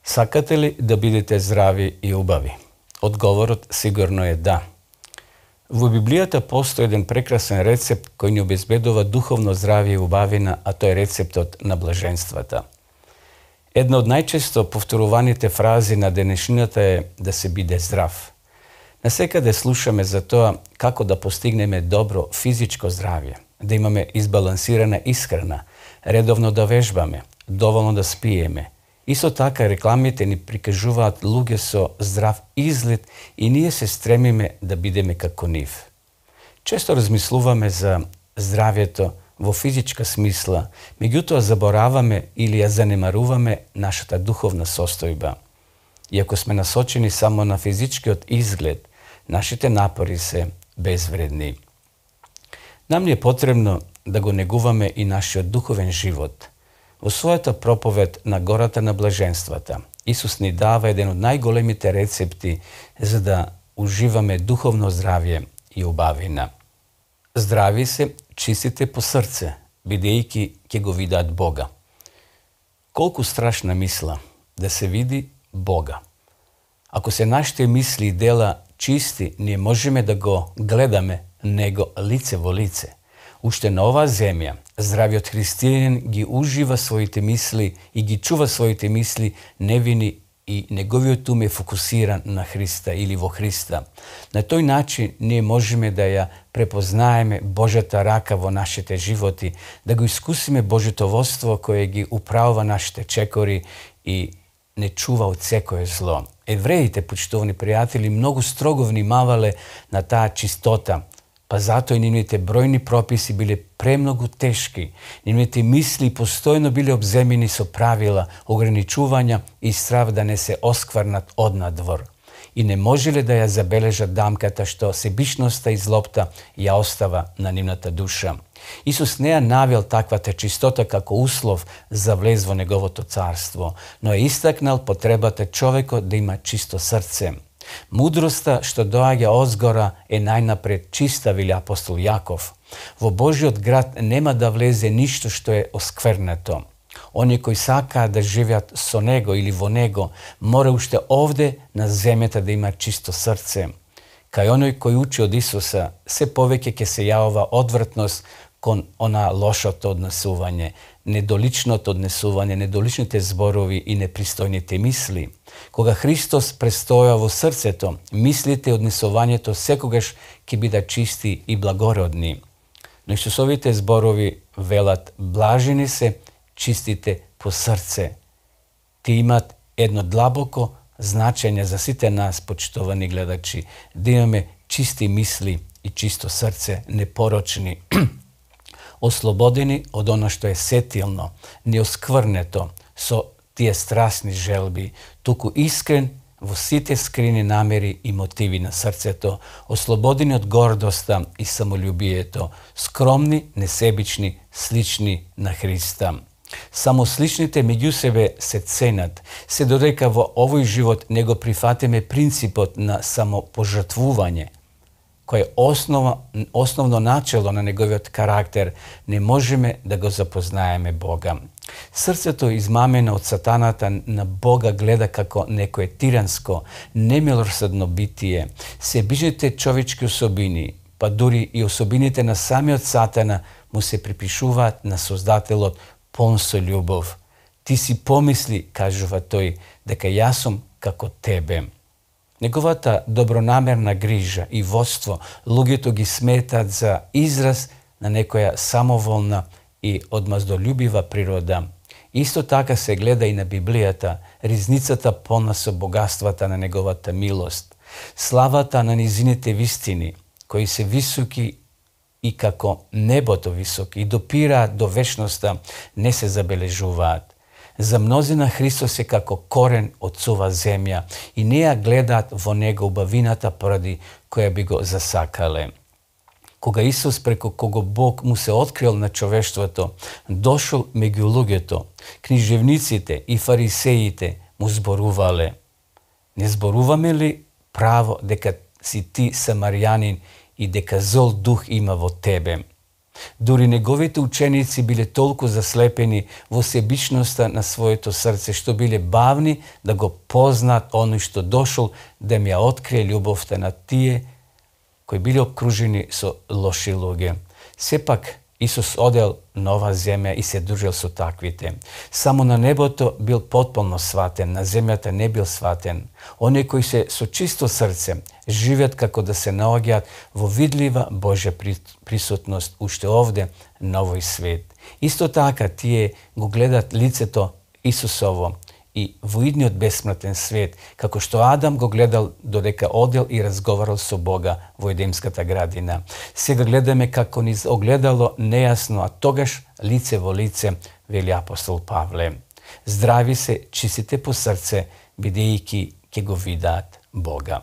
Сакате ли да бидете здрави и убави? Одговорот сигурно е да. Во Библијата постои еден прекрасен рецепт кој ни обезбедува духовно здравје и убавина, а тоа е рецептот на блаженствата. Една од најчесто повторуваните фрази на денешнината е да се биде здрав. Насекаде слушаме за тоа како да постигнеме добро физичко здравје, да имаме избалансирана исхрана, редовно да вежбаме, доволно да спиеме. Исто така рекламите ни прикажуваат луѓе со здрав изглед и ние се стремиме да бидеме како нив. Често размислуваме за здравјето во физичка смисла, меѓутоа забораваме или ја занемаруваме нашата духовна состојба. Иако сме насочени само на физичкиот изглед, нашите напори се безвредни. Нам ни е потребно да го негуваме и нашиот духовен живот. Во својата проповед на гората на блаженствата, Исус ни дава еден од најголемите рецепти за да уживаме духовно здравје и убавина. Здрави се чистите по срце, бидејќи ќе го видат Бога. Колку страшна мисла да се види Бога. Ако се нашите мисли и дела чисти, ние можеме да го гледаме Него лице во лице. Уште на оваа земја, здравиот христијанин ги ужива своите мисли и ги чува своите мисли невини и неговиот ум е фокусиран на Христа или во Христа. На тој начин ние можеме да ја препознаеме Божјата рака во нашите животи, да го искусиме Божјото водство кое ги управува нашите чекори и не чува од секое зло. Евреите, почитувани пријатели, многу строго внимавале на таа чистота, па затоа и нивните бројни прописи биле премногу тешки. Нивните мисли постојно биле обземени со правила, ограничувања и страв да не се оскврнат однадвор. И не можеле да ја забележат дамката што себичноста и злобта ја остава на нивната душа. Исус не ја навел таквата чистота како услов за влез во Неговото царство, но е истакнал потребата човекот да има чисто срце. Мудроста што доаѓа озгора е најнапред чиста, вели апостол Јаков. Во Божиот град нема да влезе ништо што е осквернето. Оние кои сакаат да живеат со Него или во Него, мора уште овде на земјата да има чисто срце. Кај оној кој учи од Исуса, се повеќе ќе се јавува одвратност кон она лошото однесување, недоличното однесување, недоличните зборови и непристојните мисли. Кога Христос престоја во срцето, мислите и однесувањето секогаш ќе бидат чисти и благородни. Но Исусовите зборови велат: блажени се чистите по срце. Ти имат едно длабоко значење за сите нас, почитувани гледачи, да имаме чисти мисли и чисто срце, непорочни, ослободени од она што е сетилно, неоскврнето со тие страсни желби, туку искрен во сите скрини намери и мотиви на срцето, ослободени од гордоста и самолюбието, скромни, несебични, слични на Христа. Само сличните меѓу себе се ценат, се додека во овој живот не го прифатиме принципот на самопожртвување, кој е основно начело на неговиот карактер, не можеме да го запознаеме Бога. Срцето измамено од сатаната на Бога гледа како некое тиранско, немилосредно битие. Себичните човечки особини, па дури и особините на самиот сатана му се припишуваат на Создателот полн со љубов. Ти си помисли, кажува тој, дека јас сум како тебе. Неговата добронамерна грижа и водство луѓето ги сметаат за израз на некоја самоволна и одмаздолюбива природа. Исто така се гледа и на Библијата, ризницата полна со богатствата на неговата милост, славата на низините вистини, кои се високи и како небото високи и допираат до вечноста, не се забележуваат. За мнозина Христос е како корен од сува земја и не ја гледаат во Него убавината поради која би го засакале. Кога Исус преку кого Бог му се открил на човештвото, дошол меѓу луѓето, книжевниците и фарисеите му зборувале: не зборуваме ли право дека си ти самарјанин и дека зол дух има во тебе? Дури неговите ученици биле толку заслепени во себичноста на своето срце, што биле бавни да го познаат оној што дошол да ми ја открие љубовта на тие кои биле обкружени со лоши луѓе. Сепак, Исус одел на ова земја и се дружил со таквите. Само на небото бил потполно сватен, на земјата не бил сватен. Оние кои се со чисто срце живеат како да се наоѓаат во видлива Божја присутност уште овде на овој свет. Исто така тие го гледат лицето Исусово и во идниот бесмртен свет, како што Адам го гледал додека одел и разговарал со Бога во Едемската градина. Сега гледаме како низ огледало нејасно, а тогаш лице во лице, вели апостол Павле. Здрави се чистите по срце, бидејќи ќе го видат Бога.